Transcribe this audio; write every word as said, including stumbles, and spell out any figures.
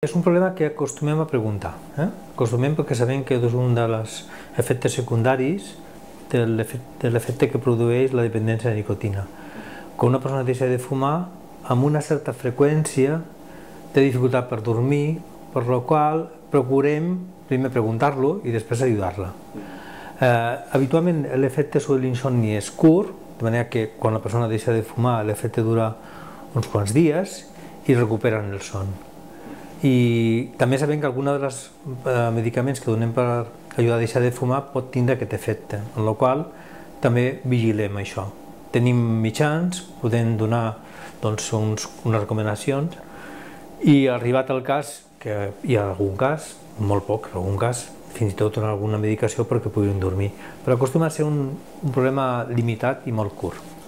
És un problema que acostumem a preguntar. Eh? Acostumem perquè sabem que és un dels efectes secundaris de l'efecte que produeix la dependència de nicotina. Quan una persona deixa de fumar, amb una certa freqüència té dificultat per dormir, per la qual procurem primer preguntar-lo i després ajudar-la. Eh, habitualment l'efecte sobre l'insomni és curt, de manera que quan la persona deixa de fumar l'efecte dura uns quants dies i recuperen el son. I també sabem que alguns dels eh, medicaments que donem per ajudar a deixar de fumar pot tindre aquest efecte, en la qual també vigilem això. Tenim mitjans, podem donar doncs, uns, unes recomanacions i arribat al cas, que hi ha algun cas, molt poc, en algun cas, fins i tot donar alguna medicació perquè puguin dormir. Però acostuma a ser un, un problema limitat i molt curt.